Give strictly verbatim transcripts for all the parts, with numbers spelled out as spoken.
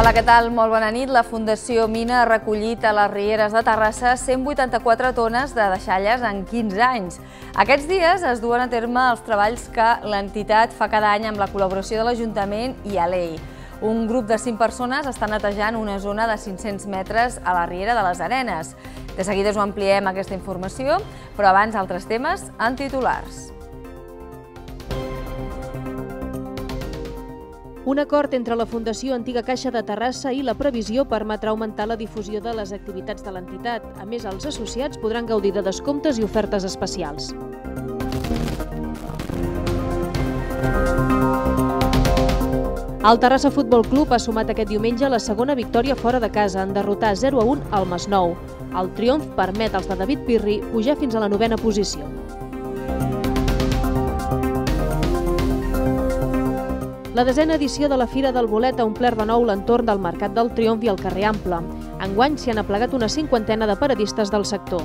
Hola, què tal? Molt bona nit. La Fundació Mina ha recollit a les Rieres de Terrassa cent vuitanta-quatre tones de deixalles en quinze anys. Aquests dies es duen a terme els treballs que l'entitat fa cada any amb la col·laboració de l'Ajuntament i A L E I. Un grup de cinc persones està netejant una zona de cinc-cents metres a la Riera de les Arenes. De seguida us ho ampliem aquesta informació, però abans altres temes en titulars. Un acord entre la Fundació Antiga Caixa de Terrassa i la previsió permetrà augmentar la difusió de les activitats de l'entitat. A més, els associats podran gaudir de descomptes i ofertes especials. El Terrassa Futbol Club ha sumat aquest diumenge la segona victòria fora de casa en derrotar zero a un al Masnou. El triomf permet als de David Pirri pujar fins a la novena posició. La desena edició de la Fira del Bolet ha omplert de nou l'entorn del Mercat del Triomf i el carrer Ample. Enguany s'hi han aplegat una cinquantena de paradistes del sector.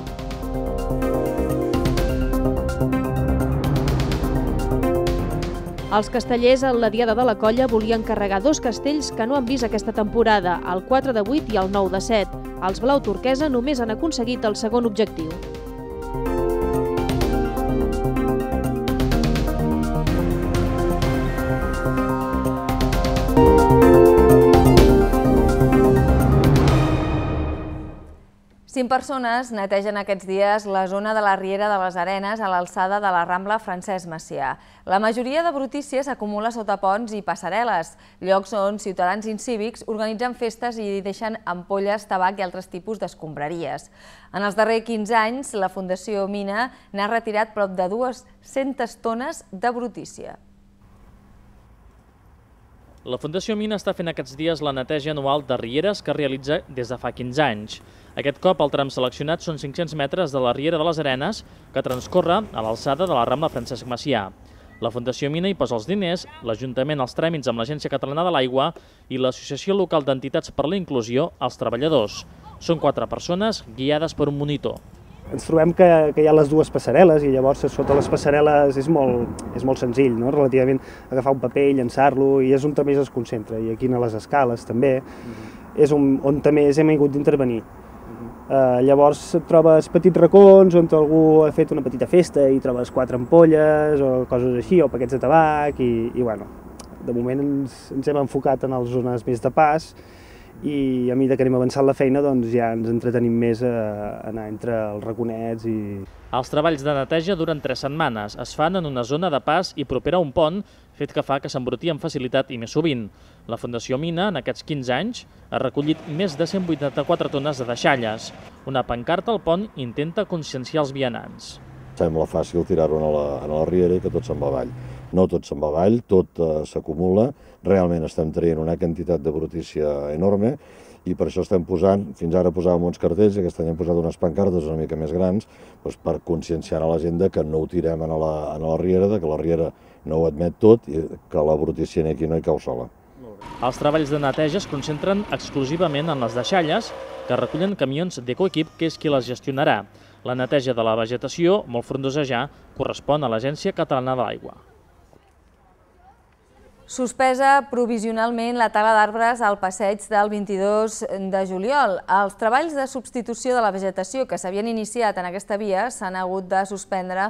Els castellers en la Diada de la Colla volien carregar dos castells que no han vist aquesta temporada, el quatre de vuit i el nou de set. Els blau turquesa només han aconseguit el segon objectiu. Cinc persones netegen aquests dies la zona de la Riera de les Arenes a l'alçada de la Rambla Francesc Macià. La majoria de brutícia s'acumula sota ponts i passarel·les, llocs on ciutadans incívics organitzen festes i deixen ampolles, tabac i altres tipus d'escombraries. En els darrers quinze anys, la Fundació Mina n'ha retirat prop de dues-centes tones de brutícia. La Fundació Mina està fent aquests dies la neteja anual de rieres que realitza des de fa quinze anys. Aquest cop el tram seleccionat són cinc-cents metres de la Riera de les Arenes que transcorre a l'alçada de la Rambla Francesc Macià. La Fundació Mina hi posa els diners, l'Ajuntament els tràmits amb l'Agència Catalana de l'Aigua i l'Associació Local d'Entitats per la Inclusió als treballadors. Són quatre persones guiades per un monitor. Ens trobem que, que hi ha les dues passarel·les i llavors sota les passarel·les és molt, és molt senzill, no? Relativament agafar un paper i llançar-lo, i és on també es concentra, i aquí a les escales també, uh-huh. és on, on també hem hagut d'intervenir. Uh-huh. uh, llavors trobes petits racons on algú ha fet una petita festa i trobes quatre ampolles o coses així, o paquets de tabac, i, i bueno, de moment ens, ens hem enfocat en les zones més de pas, i a mesura que anem avançant la feina doncs ja ens entretenim més a anar entre els raconets i... Els treballs de neteja duren tres setmanes. Es fan en una zona de pas i propera a un pont, fet que fa que s'embruti amb facilitat i més sovint. La Fundació Mina, en aquests quinze anys, ha recollit més de cent vuitanta-quatre tones de deixalles. Una pancarta al pont intenta conscienciar els vianants. Sembla fàcil tirar-ho a, a la riera i que tot se'n va avall. No tot se'n va avall, tot uh, s'acumula. Realment estem traient una quantitat de brutícia enorme i per això estem posant, fins ara posàvem uns cartells i aquest any hem posat unes pancartes una mica més grans doncs per conscienciar a la gent que no ho tirem a la, a la riera, que la riera no ho admet tot i que la brutícia aquí no hi cau sola. Els treballs de neteja es concentren exclusivament en les deixalles que recullen camions d'Ecoequip, que és qui les gestionarà. La neteja de la vegetació, molt frondosa ja, correspon a l'Agència Catalana de l'Aigua. Suspesa provisionalment la tala d'arbres al passeig del vint-i-dos de juliol. Els treballs de substitució de la vegetació que s'havien iniciat en aquesta via s'han hagut de suspendre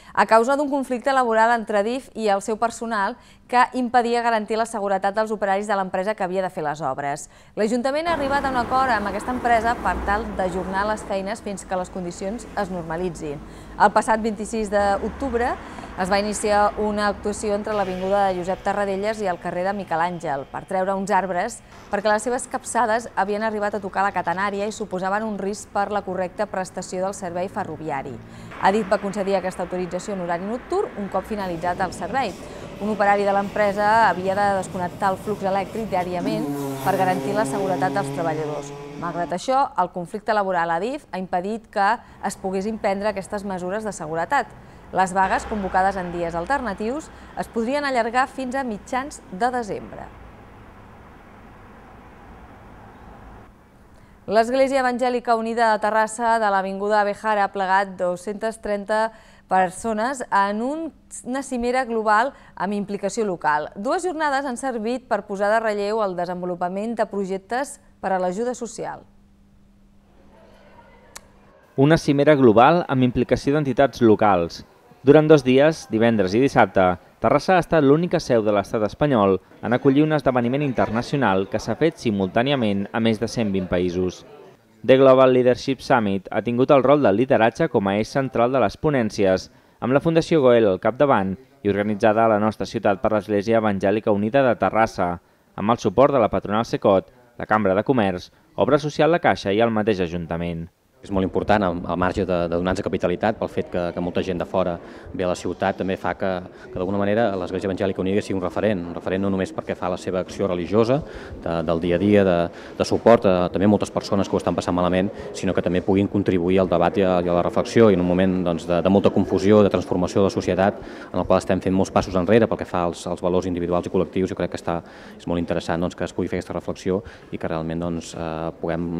a causa d'un conflicte laboral entre D I F i el seu personal que impedia garantir la seguretat dels operaris de l'empresa que havia de fer les obres. L'Ajuntament ha arribat a un acord amb aquesta empresa per tal d'ajornar les feines fins que les condicions es normalitzin. El passat vint-i-sis d'octubre es va iniciar una actuació entre l'avinguda de Josep Tarradellas i el carrer de Miquel Àngel per treure uns arbres perquè les seves capçades havien arribat a tocar la catenària i suposaven un risc per la correcta prestació del servei ferroviari. A D I F va concedir aquesta autorització en horari nocturn un cop finalitzat el servei. Un operari de l'empresa havia de desconnectar el flux elèctric diàriament per garantir la seguretat dels treballadors. Malgrat això, el conflicte laboral a D I F ha impedit que es poguessin prendre aquestes mesures de seguretat. Les vagues, convocades en dies alternatius, es podrien allargar fins a mitjans de desembre. L'Església Evangèlica Unida de Terrassa de l'Avinguda Abejara ha plegat dos-centes trenta persones en una cimera global amb implicació local. Dues jornades han servit per posar de relleu el desenvolupament de projectes per a l'ajuda social. Una cimera global amb implicació d'entitats locals. Durant dos dies, divendres i dissabte, Terrassa ha estat l'única seu de l'estat espanyol en acollir un esdeveniment internacional que s'ha fet simultàniament a més de cent vint països. The Global Leadership Summit ha tingut el rol del lideratge com a eix central de les ponències, amb la Fundació Goel al capdavant i organitzada a la nostra ciutat per l'Església Evangèlica Unida de Terrassa, amb el suport de la Patronal Secot, la Cambra de Comerç, Obra Social La Caixa i el mateix Ajuntament. És molt important, al marge de, de donar-nos capitalitat, pel fet que, que molta gent de fora ve a la ciutat, també fa que, que d'alguna manera l'Església Evangèlica Unida sigui un referent, un referent no només perquè fa la seva acció religiosa, de, del dia a dia, de, de suport a també moltes persones que ho estan passant malament, sinó que també puguin contribuir al debat i a, i a la reflexió, i en un moment doncs, de, de molta confusió, de transformació de la societat, en el qual estem fent molts passos enrere pel que fa als, als valors individuals i col·lectius. Jo crec que està, és molt interessant doncs, que es pugui fer aquesta reflexió i que realment doncs, eh, puguem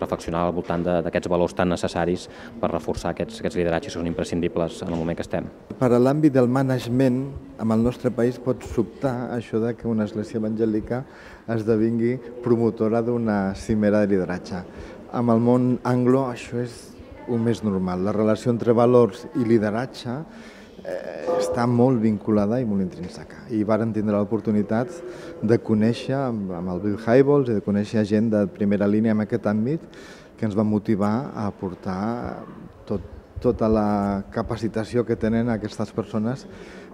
reflexionar al voltant d'aquests valors tan necessaris per reforçar aquests, aquests lideratges que són imprescindibles en el moment que estem. Per a l'àmbit del management, en el nostre país pot sobtar això de que una església evangèlica esdevingui promotora d'una cimera de lideratge. Amb el món anglo això és el més normal. La relació entre valors i lideratge eh, està molt vinculada i molt intrínseca. I varen tindre l'oportunitat de conèixer amb, amb el Bill Hybels i de conèixer gent de primera línia en aquest àmbit que ens va motivar a aportar tot, tota la capacitació que tenen aquestes persones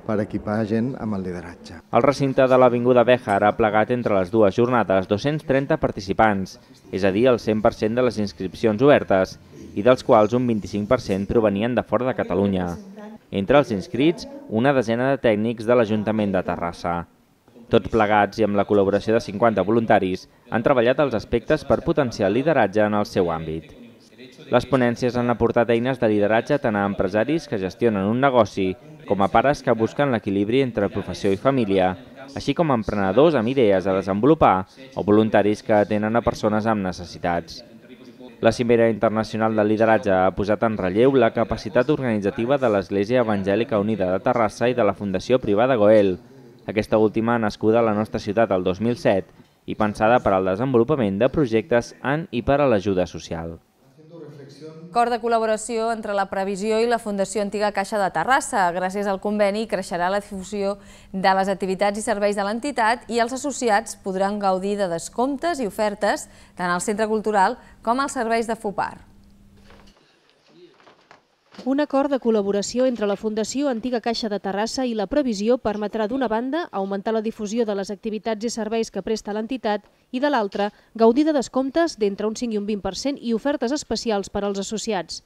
per equipar gent amb el lideratge. El recinte de l'Avinguda Béjar ha plegat entre les dues jornades dos-cents trenta participants, és a dir, el cent per cent de les inscripcions obertes, i dels quals un vint-i-cinc per cent provenien de fora de Catalunya. Entre els inscrits, una desena de tècnics de l'Ajuntament de Terrassa. Tots plegats i amb la col·laboració de cinquanta voluntaris han treballat els aspectes per potenciar el lideratge en el seu àmbit. Les ponències han aportat eines de lideratge tant a empresaris que gestionen un negoci com a pares que busquen l'equilibri entre professió i família, així com a emprenedors amb idees a desenvolupar o voluntaris que atenen a persones amb necessitats. La Cimera Internacional del Lideratge ha posat en relleu la capacitat organitzativa de l'Església Evangèlica Unida de Terrassa i de la Fundació Privada Goel, aquesta última nascuda a la nostra ciutat el dos mil set i pensada per al desenvolupament de projectes en i per a l'ajuda social. Acord de col·laboració entre la Previsió i la Fundació Antiga Caixa de Terrassa. Gràcies al conveni creixerà la difusió de les activitats i serveis de l'entitat i els associats podran gaudir de descomptes i ofertes tant al Centre Cultural com als serveis de FUPAR. Un acord de col·laboració entre la Fundació Antiga Caixa de Terrassa i la Previsió permetrà d'una banda augmentar la difusió de les activitats i serveis que presta l'entitat i de l'altra gaudir de descomptes d'entre un cinc i un vint per cent i ofertes especials per als associats.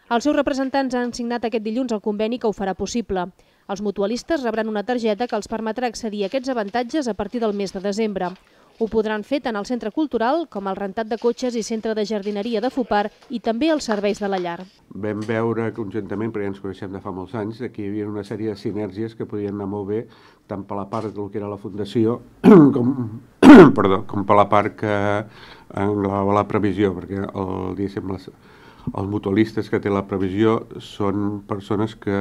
Els seus representants han signat aquest dilluns el conveni que ho farà possible. Els mutualistes rebran una targeta que els permetrà accedir a aquests avantatges a partir del mes de desembre. Ho podran fer tant al Centre Cultural com al rentat de cotxes i Centre de Jardineria de FUPAR i també als serveis de la llar. Vam veure conjuntament, perquè ens coneixem de fa molts anys, que hi havia una sèrie de sinergies que podien anar molt bé tant per la part del que era la Fundació com, perdó, com per la part que engloba la Previsió, perquè el, diguéssim, les, els mutualistes que té la Previsió són persones que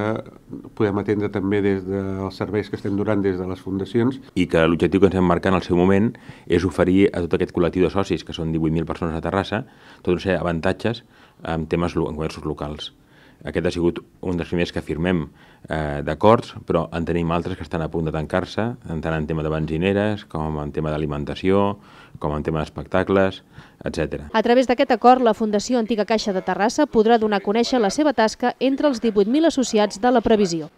podem atendre també des dels serveis que estem donant des de les fundacions. I que l'objectiu que ens hem marcat en el seu moment és oferir a tot aquest col·lectiu de socis, que són divuit mil persones a Terrassa, tot un sèrie d'avantatges en temes en comerços locals. Aquest ha sigut un dels primers que firmem eh, d'acords, però en tenim altres que estan a punt de tancar-se, tant en tema de benzineres, com en tema d'alimentació, com en tema d'espectacles, etcètera. A través d'aquest acord, la Fundació Antiga Caixa de Terrassa podrà donar a conèixer la seva tasca entre els divuit mil associats de la Previsió.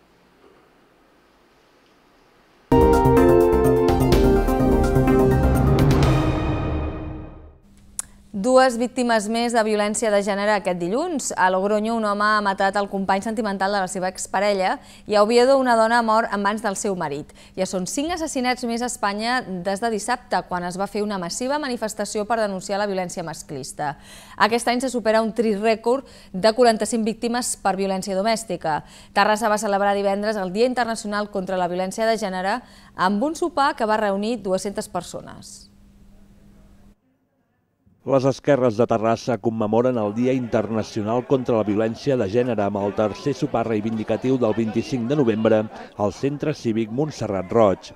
Dues víctimes més de violència de gènere aquest dilluns. A Logroño, un home ha matat el company sentimental de la seva exparella i a Oviedo una dona ha mort en mans del seu marit. Ja són cinc assassinats més a Espanya des de dissabte, quan es va fer una massiva manifestació per denunciar la violència masclista. Aquest any se supera un trist rècord de quaranta-cinc víctimes per violència domèstica. Terrassa va celebrar divendres el Dia Internacional contra la Violència de Gènere amb un sopar que va reunir dues-centes persones. Les esquerres de Terrassa commemoren el Dia Internacional contra la Violència de Gènere amb el tercer sopar reivindicatiu del vint-i-cinc de novembre al Centre Cívic Montserrat Roig.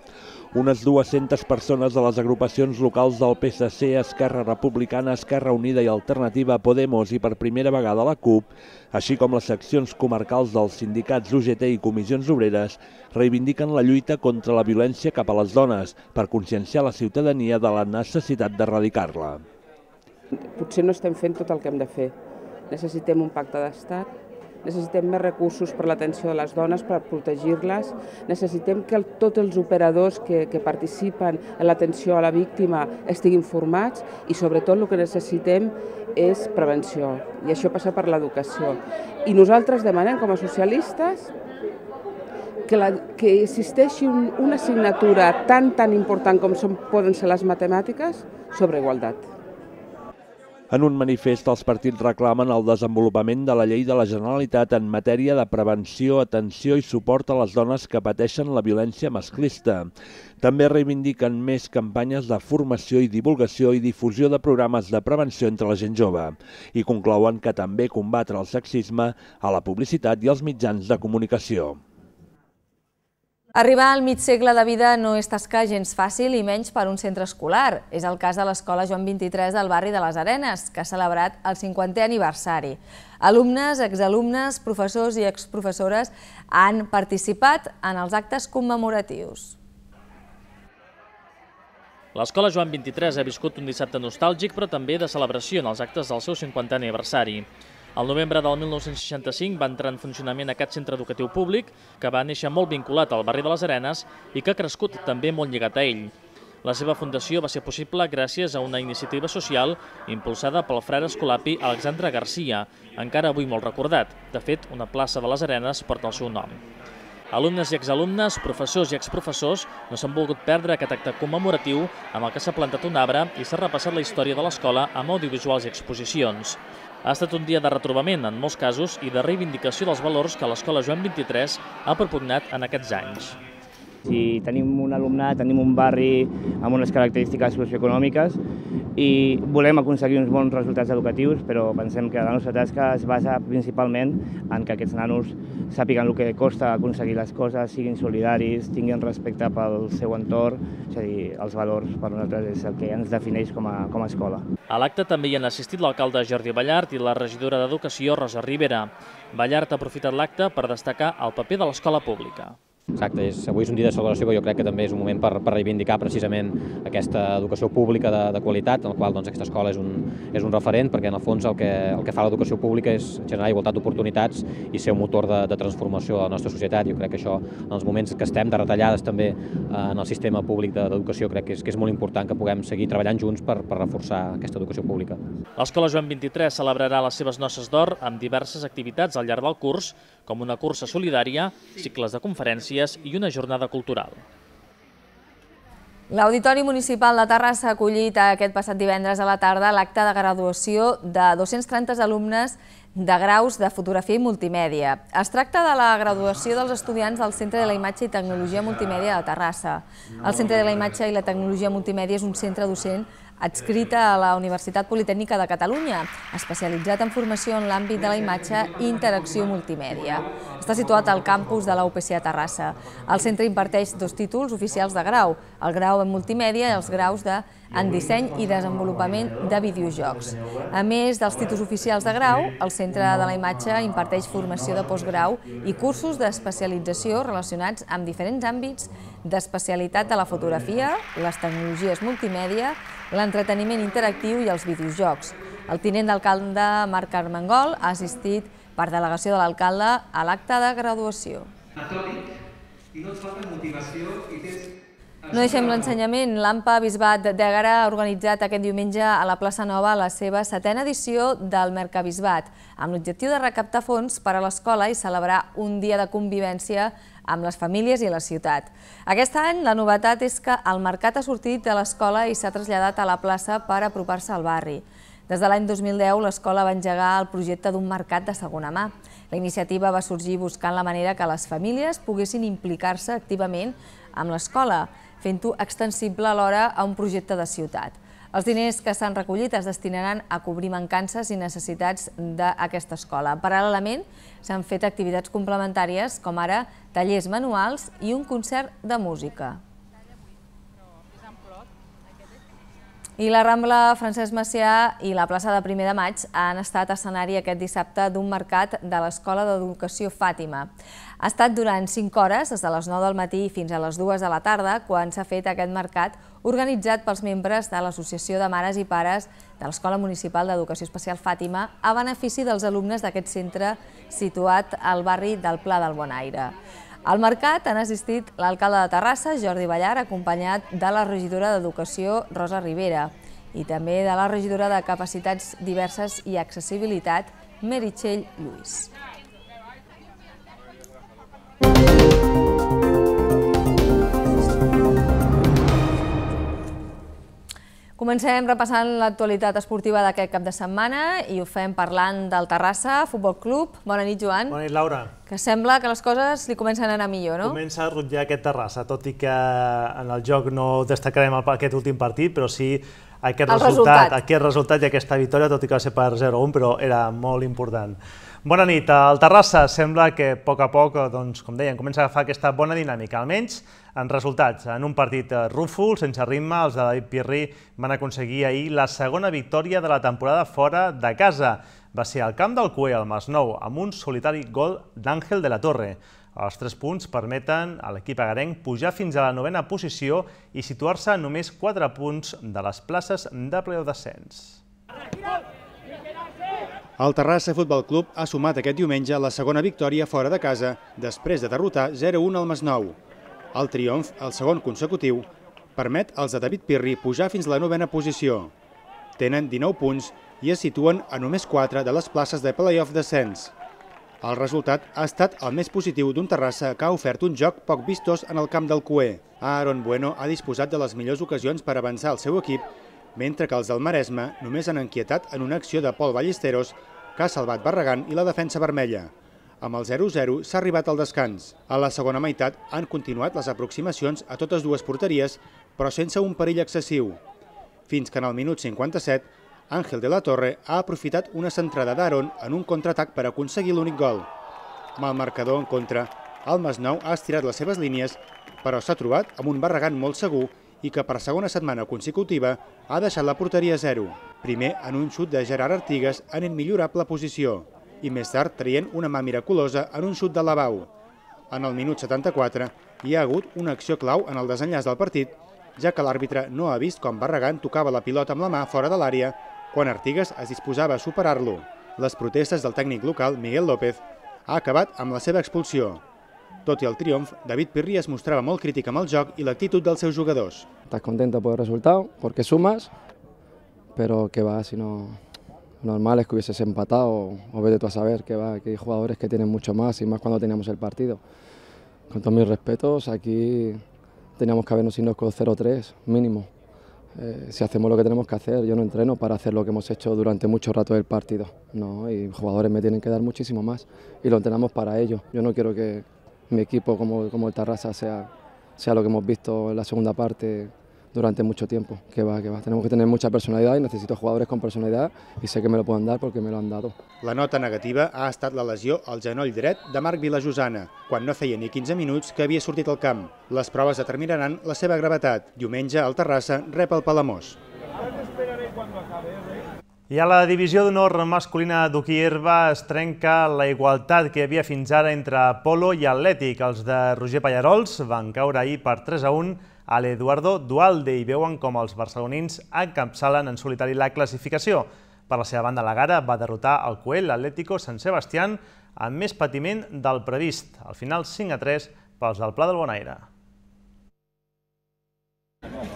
Unes dues-centes persones de les agrupacions locals del P S C, Esquerra Republicana, Esquerra Unida i Alternativa, Podemos i per primera vegada la CUP, així com les seccions comarcals dels sindicats U G T i Comissions Obreres, reivindiquen la lluita contra la violència cap a les dones per conscienciar la ciutadania de la necessitat d'erradicar-la. Potser no estem fent tot el que hem de fer. Necessitem un pacte d'estat, necessitem més recursos per l'atenció de les dones, per protegir-les, necessitem que el, tots els operadors que, que participen en l'atenció a la víctima estiguin formats i sobretot el que necessitem és prevenció i això passa per l'educació. I nosaltres demanem com a socialistes que, la, que existeixi un, una assignatura tan tan important com són, poden ser les matemàtiques sobre igualtat. En un manifest, els partits reclamen el desenvolupament de la llei de la Generalitat en matèria de prevenció, atenció i suport a les dones que pateixen la violència masclista. També reivindiquen més campanyes de formació i divulgació i difusió de programes de prevenció entre la gent jove. I conclouen que també combatre el sexisme a la publicitat i als mitjans de comunicació. Arribar al mig segle de vida no és tasca gens fàcil i menys per un centre escolar. És el cas de l'Escola Joan vint-i-tres del barri de les Arenes, que ha celebrat el cinquantè aniversari. Alumnes, exalumnes, professors i exprofessores han participat en els actes commemoratius. L'Escola Joan vint-i-tres ha viscut un dissabte nostàlgic, però també de celebració en els actes del seu cinquantè aniversari. Al novembre del mil nou-cents seixanta-cinc va entrar en funcionament aquest centre educatiu públic, que va néixer molt vinculat al barri de les Arenes i que ha crescut també molt lligat a ell. La seva fundació va ser possible gràcies a una iniciativa social impulsada pel frare escolapi Alexandre Garcia, encara avui molt recordat. De fet, una plaça de les Arenes porta el seu nom. Alumnes i exalumnes, professors i exprofessors no s'han volgut perdre aquest acte commemoratiu amb el que s'ha plantat un arbre i s'ha repassat la història de l'escola amb audiovisuals i exposicions. Ha estat un dia de retrobament, en molts casos, i de reivindicació dels valors que l'Escola Joan vint-i-tres ha propugnat en aquests anys. Si tenim un alumnat, tenim un barri amb unes característiques socioeconòmiques i volem aconseguir uns bons resultats educatius, però pensem que la nostra tasca es basa principalment en que aquests nanos sàpiguen el que costa aconseguir les coses, siguin solidaris, tinguin respecte pel seu entorn, és a dir, els valors per nosaltres és el que ens defineix com a, com a escola. A l'acte també hi han assistit l'alcalde Jordi Ballart i la regidora d'Educació Rosa Rivera. Ballart ha aprofitat l'acte per destacar el paper de l'escola pública. Exacte, és, avui és un dia de celebració que jo crec que també és un moment per, per reivindicar precisament aquesta educació pública de, de qualitat, en el qual doncs, aquesta escola és un, és un referent, perquè en el fons el que, el que fa l'educació pública és generar igualtat d'oportunitats i ser un motor de, de transformació de la nostra societat. Jo crec que això, en els moments que estem de retallades també en el sistema públic d'educació, crec que és, que és molt important que puguem seguir treballant junts per, per reforçar aquesta educació pública. L'Escola Joan vint-i-tres celebrarà les seves noces d'or amb diverses activitats al llarg del curs, com una cursa solidària, cicles de conferències i una jornada cultural. L'Auditori Municipal de Terrassa ha acollit aquest passat divendres a la tarda l'acte de graduació de dos-cents trenta alumnes de graus de fotografia i multimèdia. Es tracta de la graduació dels estudiants del Centre de la Imatge i Tecnologia Multimèdia de Terrassa. El Centre de la Imatge i la Tecnologia Multimèdia és un centre docent adscrita a la Universitat Politècnica de Catalunya, especialitzat en formació en l'àmbit de la imatge i interacció multimèdia. Està situat al campus de la U P C a Terrassa. El centre imparteix dos títols oficials de grau, el grau en multimèdia i els graus de en disseny i desenvolupament de videojocs. A més dels títols oficials de grau, el Centre de la Imatge imparteix formació de postgrau i cursos d'especialització relacionats amb diferents àmbits d'especialitat de la fotografia, les tecnologies multimèdia, l'entreteniment interactiu i els videojocs. El tinent d'alcalde Marc Armengol ha assistit per delegació de l'alcalde a l'acte de graduació. I no et falta motivació i tens... No deixem l'ensenyament. L'AMPA Bisbat d'Ègara ha organitzat aquest diumenge a la plaça Nova la seva setena edició del Mercabisbat, amb l'objectiu de recaptar fons per a l'escola i celebrar un dia de convivència amb les famílies i la ciutat. Aquest any la novetat és que el mercat ha sortit de l'escola i s'ha traslladat a la plaça per apropar-se al barri. Des de l'any dos mil deu l'escola va engegar el projecte d'un mercat de segona mà. La iniciativa va sorgir buscant la manera que les famílies poguessin implicar-se activament amb l'escola, fent-ho extensible alhora a un projecte de ciutat. Els diners que s'han recollit es destinaran a cobrir mancances i necessitats d'aquesta escola. Paral·lelament, s'han fet activitats complementàries, com ara tallers manuals i un concert de música. I la Rambla Francesc Macià i la plaça de Primer de Maig han estat escenari aquest dissabte d'un mercat de l'Escola d'Educació Fàtima. Ha estat durant cinc hores, des de les nou del matí fins a les dues de la tarda, quan s'ha fet aquest mercat organitzat pels membres de l'Associació de Mares i Pares de l'Escola Municipal d'Educació Especial Fàtima a benefici dels alumnes d'aquest centre situat al barri del Pla del Bonaire. Al mercat han assistit l'alcalde de Terrassa, Jordi Ballar, acompanyat de la regidora d'Educació, Rosa Rivera, i també de la regidora de Capacitats Diverses i Accessibilitat, Meritxell Lluís. Comencem repassant l'actualitat esportiva d'aquest cap de setmana i ho fem parlant del Terrassa Futbol Club. Bona nit, Joan. Bona nit, Laura. Que sembla que les coses li comencen a anar millor, no? Comença a rutllar aquest Terrassa, tot i que en el joc no destacarem aquest últim partit, però sí aquest resultat, aquest resultat i aquesta victòria, tot i que va ser per zero a un, però era molt important. Bona nit. El Terrassa sembla que a poc a poc, com dèiem, comença a agafar aquesta bona dinàmica, almenys en resultats. En un partit rúfol, sense ritme, els de David Pirri van aconseguir ahir la segona victòria de la temporada fora de casa. Va ser al camp del Cué, al Masnou, amb un solitari gol d'Àngel de la Torre. Els tres punts permeten a l'equip agarenc pujar fins a la novena posició i situar-se a només quatre punts de les places de playoff descens. El Terrassa Futbol Club ha sumat aquest diumenge la segona victòria fora de casa després de derrotar zero a un al Masnou. El triomf, el segon consecutiu, permet als de David Pirri pujar fins a la novena posició. Tenen dinou punts i es situen a només quatre de les places de playoff descens. El resultat ha estat el més positiu d'un Terrassa que ha ofert un joc poc vistós en el camp del Cué. Aaron Bueno ha disposat de les millors ocasions per avançar el seu equip, mentre que els del Maresme només han inquietat en una acció de Pol Ballesteros que ha salvat Barragán i la defensa vermella. Amb el zero a zero s'ha arribat al descans. A la segona meitat han continuat les aproximacions a totes dues porteries, però sense un perill excessiu. Fins que en el minut cinquanta-set, Àngel de la Torre ha aprofitat una centrada d'Aaron en un contraatac per aconseguir l'únic gol. Amb el marcador en contra, el Masnou ha estirat les seves línies, però s'ha trobat amb un Barragán molt segur i que per segona setmana consecutiva ha deixat la porteria a zero. Primer en un xut de Gerard Artigas en immillorable posició i més tard traient una mà miraculosa en un xut de Lavau. En el minut setanta-quatre hi ha hagut una acció clau en el desenllaç del partit, ja que l'àrbitre no ha vist com Barragán tocava la pilota amb la mà fora de l'àrea quan Artigas es disposava a superar-lo. Les protestes del tècnic local, Miguel López, ha acabat amb la seva expulsió. Tot i el triomf, David Pirri es mostrava molt crític amb el joc i l'actitud dels seus jugadors. Estás contento por el resultado, porque sumas, pero que va, si no, normal es que hubieses empatado o, o vete tú a saber que va, que hay jugadores que tienen mucho más y más cuando teníamos el partido. Con todos mis respetos, aquí teníamos que habernos ido con cero tres mínimo. Eh, si hacemos lo que tenemos que hacer, yo no entreno para hacer lo que hemos hecho durante mucho rato del partido, no, y jugadores me tienen que dar muchísimo más y lo entrenamos para ello. Yo no quiero que mi equipo como, como el Terrassa sea, sea lo que hemos visto en la segunda parte durante mucho tiempo, que va, que va. Tenemos que tener mucha personalidad y necesito jugadores con personalidad y sé que me lo pueden dar porque me lo han dado. La nota negativa ha estat la lesió al genoll dret de Marc Vilajosana, quan no feia ni quinze minuts que havia sortit al camp. Les proves determinaran la seva gravetat. Diumenge el Terrassa rep el Palamós. I a la divisió d'honor masculina d'hoquei herba es trenca la igualtat que hi havia fins ara entre Polo i Atlètic. Els de Roger Pallarols van caure ahir per tres a un a l'Eduardo Dualde i veuen com els barcelonins encapçalen en solitari la classificació. Per la seva banda, la Gara va derrotar el Coel l'Atlético Sant Sebastián amb més patiment del previst. Al final, cinc a tres pels del Pla del Bonaire.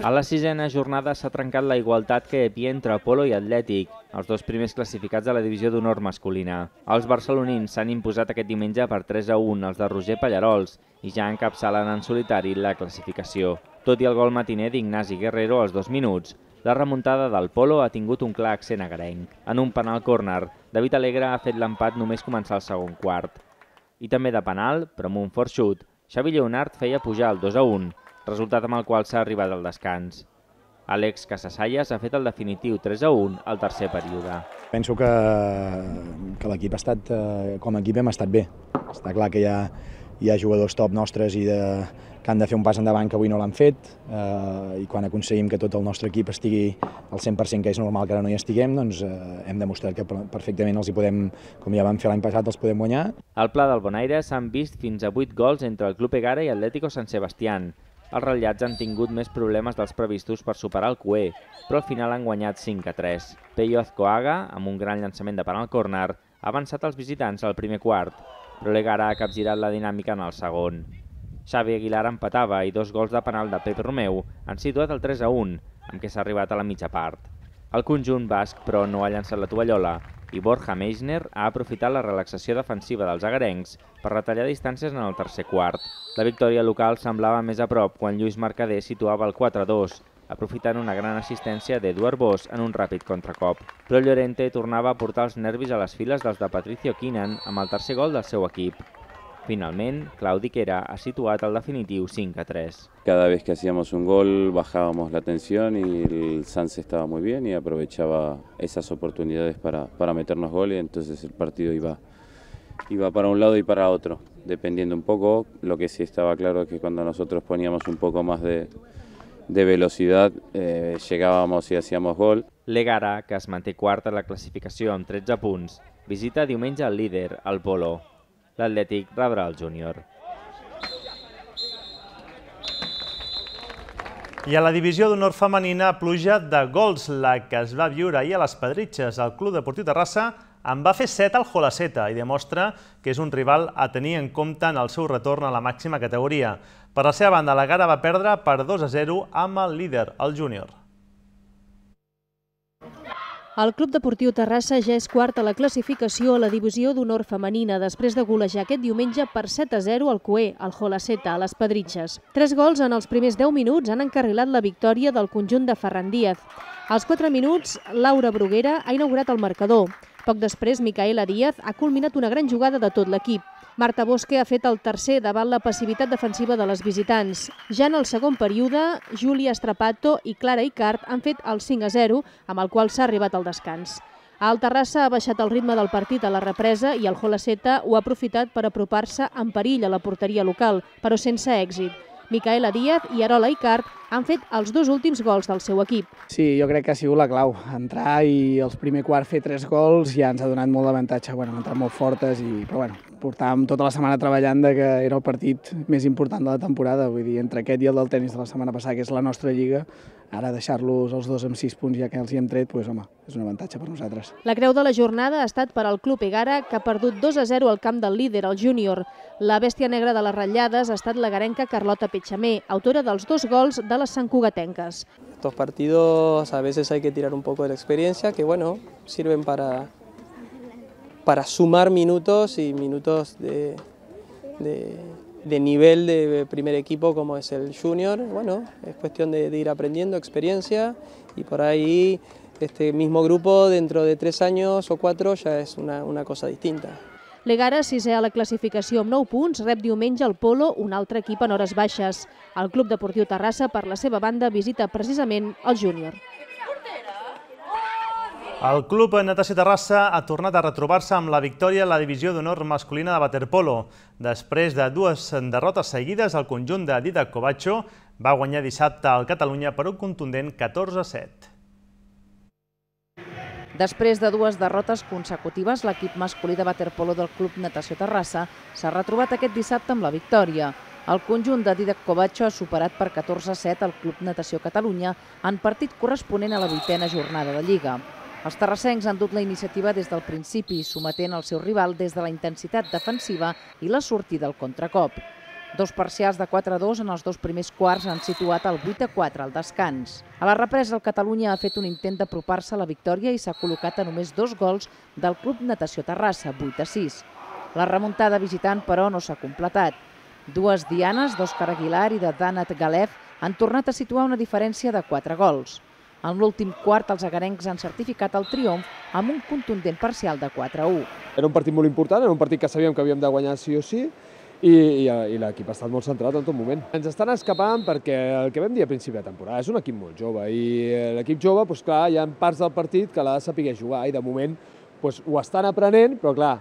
A la sisena jornada s'ha trencat la igualtat que hi havia entre Polo i Atlètic, els dos primers classificats de la divisió d'honor masculina. Els barcelonins s'han imposat aquest diumenge per tres a un als de Roger Pallarols i ja encapçalen en solitari la classificació. Tot i el gol matiner d'Ignasi Guerrero als dos minuts, la remuntada del Polo ha tingut un clar accent agarenc. En un penal córner, David Alegre ha fet l'empat només començar el segon quart. I també de penal, però amb un fort xut, Xavi Lleonard feia pujar el dos a un, resultat amb el qual s'ha arribat al descans. Àlex Casasallas ha fet el definitiu tres a un al tercer període. Penso que, que l'equip ha estat, com a equip hem estat bé. Està clar que hi ha, hi ha jugadors top nostres i de, que han de fer un pas endavant que avui no l'han fet, eh, i quan aconseguim que tot el nostre equip estigui al cent per cent, que és normal que ara no hi estiguem, doncs eh, hem demostrat que perfectament els hi podem, com ja vam fer l'any passat, els podem guanyar. Al Pla del Bonaire s'han vist fins a vuit gols entre el Club Egara i Atlético San Sebastián. Els ratllats han tingut més problemes dels previstos per superar el Cué, però al final han guanyat cinc a tres. Peyo Azcoaga, amb un gran llançament de penal córner, ha avançat els visitants al primer quart, però l'Egara ha capgirat la dinàmica en el segon. Xavi Aguilar empatava i dos gols de penal de Pep Romeu han situat el tres a un, amb què s'ha arribat a la mitja part. El conjunt basc, però, no ha llançat la tovallola i Borja Meissner ha aprofitat la relaxació defensiva dels agarencs per retallar distàncies en el tercer quart. La victòria local semblava més a prop quan Lluís Mercader situava el quatre a dos, aprofitant una gran assistència d'Eduard Bosch en un ràpid contracop. Però Llorente tornava a portar els nervis a les files dels de Patricio Quinan amb el tercer gol del seu equip. Finalment, Claudi Quera ha situat el definitiu cinc a tres. Cada vez que hacíamos un gol bajábamos la tensión y el Sanse estaba muy bien y aprovechaba esas oportunidades para, para meternos gol, y entonces el partido iba, iba para un lado y para otro, dependiendo un poco. Lo que sí estaba claro es que cuando nosotros poníamos un poco más de, de velocidad eh, llegábamos y hacíamos gol. L'Egara, que es manté quart a la classificació amb tretze punts, visita diumenge el líder, el Polo. L'Atlètic rebrà el júnior. I a la divisió d'honor femenina, pluja de gols, la que es va viure ahir a les Pedritxes. El Club Deportiu Terrassa en va fer set al Jolaceta i demostra que és un rival a tenir en compte en el seu retorn a la màxima categoria. Per la seva banda, l'Egara va perdre per dos a zero amb el líder, el júnior. El Club Deportiu Terrassa ja és quart a la classificació a la divisió d'honor femenina després de golejar aquest diumenge per set a zero al Cué, al Jolaceta, a les Pedritxes. Tres gols en els primers deu minuts han encarrilat la victòria del conjunt de Ferran Díaz. Als quatre minuts, Laura Bruguera ha inaugurat el marcador. Poc després, Micaela Díaz ha culminat una gran jugada de tot l'equip. Marta Bosque ha fet el tercer davant la passivitat defensiva de les visitants. Ja en el segon període, Júlia Strapato i Clara Icart han fet el cinc a zero, amb el qual s'ha arribat al descans. El Terrassa ha baixat el ritme del partit a la represa i el Jolaceta ho ha aprofitat per apropar-se en perill a la porteria local, però sense èxit. Micaela Díaz i Arola Icart han fet els dos últims gols del seu equip. Sí, jo crec que ha sigut la clau. Entrar i els primer quart fer tres gols ja ens ha donat molt d'avantatge. Bueno, han entrat molt fortes, i, però bueno, portàvem tota la setmana treballant de que era el partit més important de la temporada. Vull dir, entre aquest i el del tenis de la setmana passada, que és la nostra lliga, ara deixar-los els dos amb sis punts ja que els hi hem tret, doncs, home, és un avantatge per nosaltres. La creu de la jornada ha estat per al Club Egara, que ha perdut dos a zero al camp del líder, el júnior. La bèstia negra de les ratllades ha estat la garenca Carlota Petxamé, autora dels dos gols de les santcugatenques. Estos partidos a veces hay que tirar un poco de la experiencia, que bueno, sirven para, para sumar minutos y minutos de, de, de nivel de primer equipo como es el junior. Bueno, es cuestión de, de ir aprendiendo experiencia, y por ahí este mismo grupo dentro de tres años o cuatro ya es una, una cosa distinta. L'Egara, sisè a la classificació amb nou punts, rep diumenge el Polo, un altre equip en hores baixes. El Club Deportiu Terrassa, per la seva banda, visita precisament el júnior. El Club Natació Terrassa ha tornat a retrobar-se amb la victòria a la divisió d'honor masculina de waterpolo. Després de dues derrotes seguides, el conjunt de Didac Covacho va guanyar dissabte al Catalunya per un contundent catorze a set. Després de dues derrotes consecutives, l'equip masculí de waterpolo del Club Natació Terrassa s'ha retrobat aquest dissabte amb la victòria. El conjunt de Didac Covacho ha superat per catorze a set el Club Natació Catalunya en partit corresponent a la vuitena jornada de Lliga. Els terrassencs han dut la iniciativa des del principi, sometent el seu rival des de la intensitat defensiva i la sortida al contracop. Dos parcials de quatre a dos en els dos primers quarts han situat el vuit a quatre al descans. A la represa, el Catalunya ha fet un intent d'apropar-se a la victòria i s'ha col·locat a només dos gols del Club Natació Terrassa, vuit a sis. La remuntada visitant, però, no s'ha completat. Dues dianes d'Òscar Aguilar i de Danat Galef han tornat a situar una diferència de quatre gols. En l'últim quart, els agarencs han certificat el triomf amb un contundent parcial de quatre a u. Era un partit molt important, era un partit que sabíem que havíem de guanyar sí o sí, i, i, i l'equip ha estat molt centrat en tot moment. Ens estan escapant perquè el que vam dir a principi de temporada és un equip molt jove i l'equip jove, doncs clar, hi ha parts del partit que l'ha de saber jugar i de moment doncs, ho estan aprenent, però clar,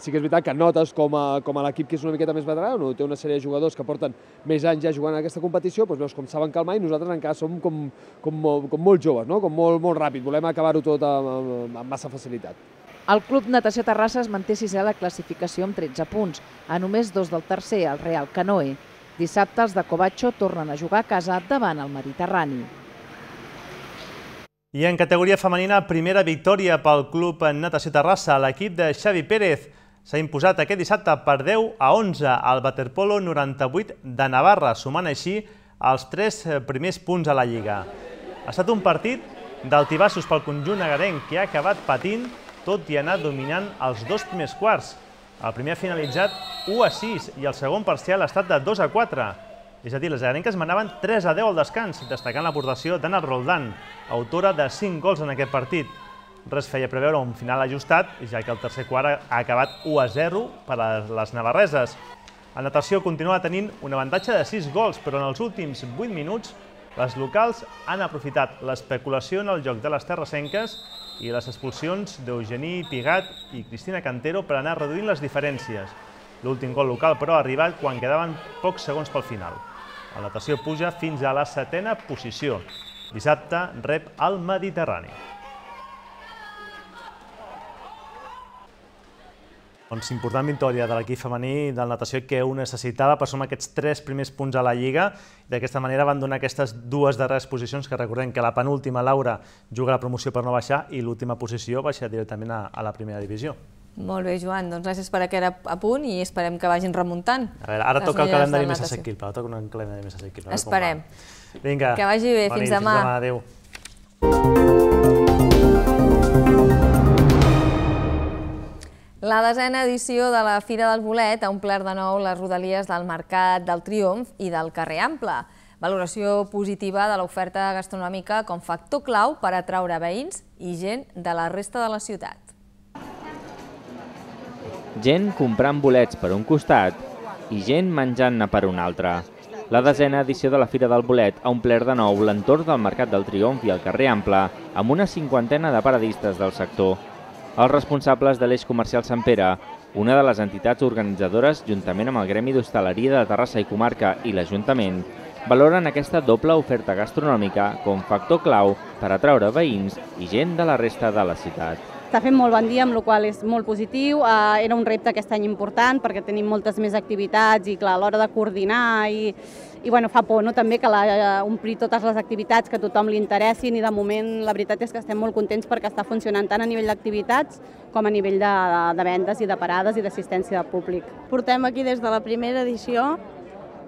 sí que és veritat que notes com a, com a l'equip que és una miqueta més veterà, té una sèrie de jugadors que porten més anys ja jugant en aquesta competició, doncs veus com saben calmar i nosaltres encara som com, com, com molt joves, no? Com molt, molt ràpid, volem acabar-ho tot amb, amb massa facilitat. El Club Natació Terrassa es manté sisè a la classificació amb tretze punts, a només dos del tercer, el Real Canoe. Dissabte els de Covatxo tornen a jugar a casa davant el Mediterrani. I en categoria femenina, primera victòria pel Club Natació Terrassa. L'equip de Xavi Pérez s'ha imposat aquest dissabte per deu a onze al Waterpolo noranta-vuit de Navarra, sumant així els tres primers punts a la Lliga. Ha estat un partit d'altibassos pel conjunt agarenc que ha acabat patint, tot i anar dominant els dos primers quarts. El primer ha finalitzat u a sis i el segon parcial ha estat de dos a quatre. És a dir, les agarenques manaven tres a deu al descans, destacant l'aportació d'Anna Roldán, autora de cinc gols en aquest partit. Res feia preveure un final ajustat, ja que el tercer quart ha acabat u a zero per a les navarreses. La natació continua tenint un avantatge de sis gols, però en els últims vuit minuts les locals han aprofitat l'especulació en el joc de les terrassenques i les expulsions d'Eugení Pigat i Cristina Cantero per anar reduint les diferències. L'últim gol local, però, ha arribat quan quedaven pocs segons pel final. La natació puja fins a la setena posició. Dissabte rep el Mediterrani. Doncs important victòria de l'equip femení del natació que ho necessitava per sumar aquests tres primers punts a la Lliga. D'aquesta manera van donar aquestes dues darreres posicions, que recordem que la penúltima, Laura, juga la promoció per no baixar i l'última posició baixa directament a, a la primera divisió. Molt bé, Joan, doncs gràcies per aquest apunt i esperem que vagin remuntant. A veure, ara toca el calendari més assequible, ara toca un calendari més assequible. Esperem. Vinga. Que vagi bé, fins demà. Fins demà, adéu. La desena edició de la Fira del Bolet ha omplert de nou les rodalies del Mercat del Triomf i del Carrer Ample. Valoració positiva de l'oferta gastronòmica com factor clau per atraure veïns i gent de la resta de la ciutat. Gent comprant bolets per un costat i gent menjant-ne per un altre. La desena edició de la Fira del Bolet ha omplert de nou l'entorn del Mercat del Triomf i el Carrer Ample amb una cinquantena de paradistes del sector. Els responsables de l'eix comercial Sant Pere, una de les entitats organitzadores, juntament amb el Gremi d'Hostaleria de Terrassa i Comarca i l'Ajuntament, valoren aquesta doble oferta gastronòmica com factor clau per atraure veïns i gent de la resta de la ciutat. Està fent molt bon dia, amb la qual cosa és molt positiu. Era un repte aquest any important perquè tenim moltes més activitats i clar, a l'hora de coordinar i, i bueno, fa por, no? També que la, omplir totes les activitats que a tothom li interessin i de moment la veritat és que estem molt contents perquè està funcionant tant a nivell d'activitats com a nivell de, de vendes i de parades i d'assistència de públic. Portem aquí des de la primera edició.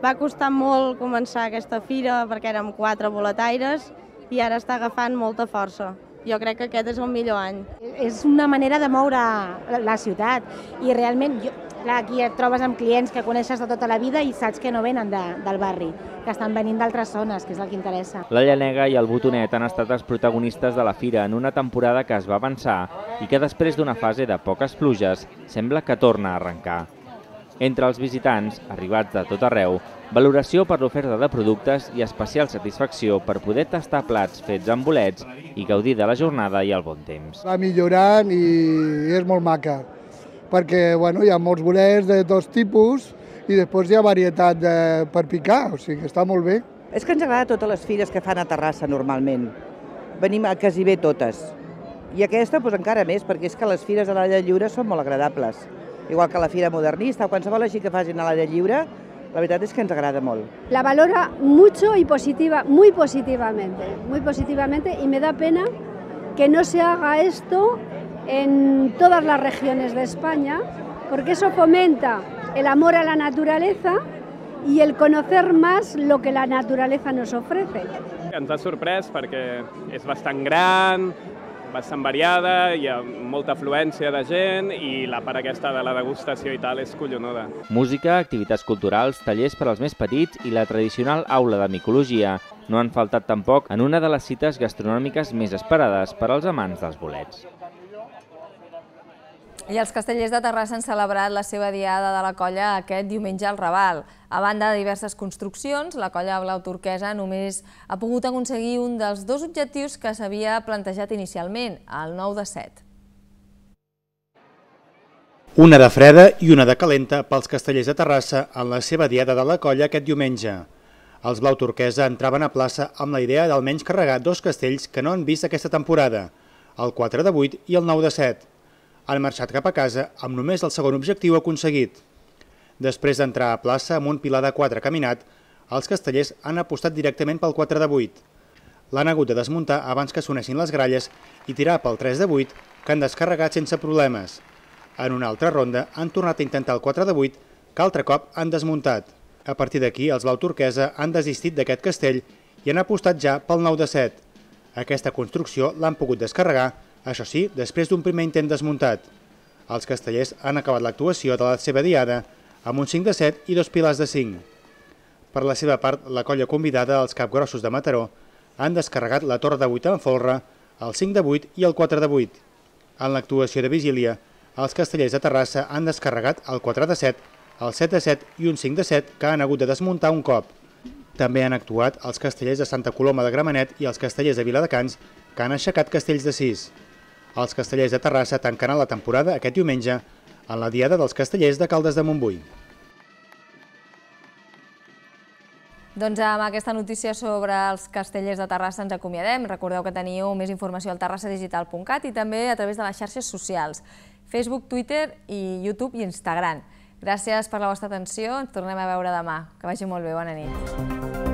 Va costar molt començar aquesta fira perquè érem quatre boletaires i ara està agafant molta força. Jo crec que aquest és el millor any. És una manera de moure la ciutat i realment jo, clar, aquí et trobes amb clients que coneixes de tota la vida i saps que no venen de, del barri, que estan venint d'altres zones, que és el que interessa. La Llanega i el Botonet han estat els protagonistes de la fira en una temporada que es va avançar i que després d'una fase de poques pluges sembla que torna a arrencar. Entre els visitants, arribats de tot arreu, valoració per l'oferta de productes i especial satisfacció per poder tastar plats fets amb bolets i gaudir de la jornada i el bon temps. Va millorant i és molt maca, perquè bueno, hi ha molts bolets de tots tipus i després hi ha varietat de, per picar, o sigui que està molt bé. És que ens agrada totes les fires que fan a Terrassa normalment. Venim a quasi bé totes. I aquesta doncs, encara més, perquè és que les fires a l'aire lliure són molt agradables. Igual que la fira modernista o qualsevol així que facin a l'aire lliure, la verdad es que nos agrada mucho. La valora mucho y positiva, muy positivamente, muy positivamente y me da pena que no se haga esto en todas las regiones de España, porque eso fomenta el amor a la naturaleza y el conocer más lo que la naturaleza nos ofrece. Ens ha sorprès perquè és bastant gran, bastant variada, hi ha molta afluència de gent i la part aquesta de la degustació i tal és collonuda. Música, activitats culturals, tallers per als més petits i la tradicional aula de micologia no han faltat tampoc en una de les cites gastronòmiques més esperades per als amants dels bolets. I els castellers de Terrassa han celebrat la seva diada de la colla aquest diumenge al Raval. A banda de diverses construccions, la colla blau turquesa només ha pogut aconseguir un dels dos objectius que s'havia plantejat inicialment, el nou de set. Una de freda i una de calenta pels castellers de Terrassa en la seva diada de la colla aquest diumenge. Els blau turquesa entraven a plaça amb la idea d'almenys carregar dos castells que no han vist aquesta temporada, el quatre de vuit i el nou de set. Han marxat cap a casa amb només el segon objectiu aconseguit. Després d'entrar a plaça amb un pilar de quatre caminat, els castellers han apostat directament pel quatre de vuit. L'han hagut de desmuntar abans que sonessin les gralles i tirar pel tres de vuit, que han descarregat sense problemes. En una altra ronda han tornat a intentar el quatre de vuit, que altre cop han desmuntat. A partir d'aquí, els blau turquesa han desistit d'aquest castell i han apostat ja pel nou de set. Aquesta construcció l'han pogut descarregar, això sí, després d'un primer intent desmuntat. Els castellers han acabat l'actuació de la seva diada amb un cinc de set i dos pilars de cinc. Per la seva part, la colla convidada, els capgrossos de Mataró, han descarregat la torre de vuit en folre, el cinc de vuit i el quatre de vuit. En l'actuació de vigília, els castellers de Terrassa han descarregat el quatre de set, el set de set i un cinc de set que han hagut de desmuntar un cop. També han actuat els castellers de Santa Coloma de Gramenet i els castellers de Viladecans, que han aixecat castells de sis. Els castellers de Terrassa tancaran la temporada aquest diumenge en la diada dels castellers de Caldes de Montbui. Doncs amb aquesta notícia sobre els castellers de Terrassa ens acomiadem. Recordeu que teniu més informació al terrassa digital punt cat i també a través de les xarxes socials, Facebook, Twitter i YouTube i Instagram. Gràcies per la vostra atenció, ens tornem a veure demà. Que vagi molt bé, bona nit.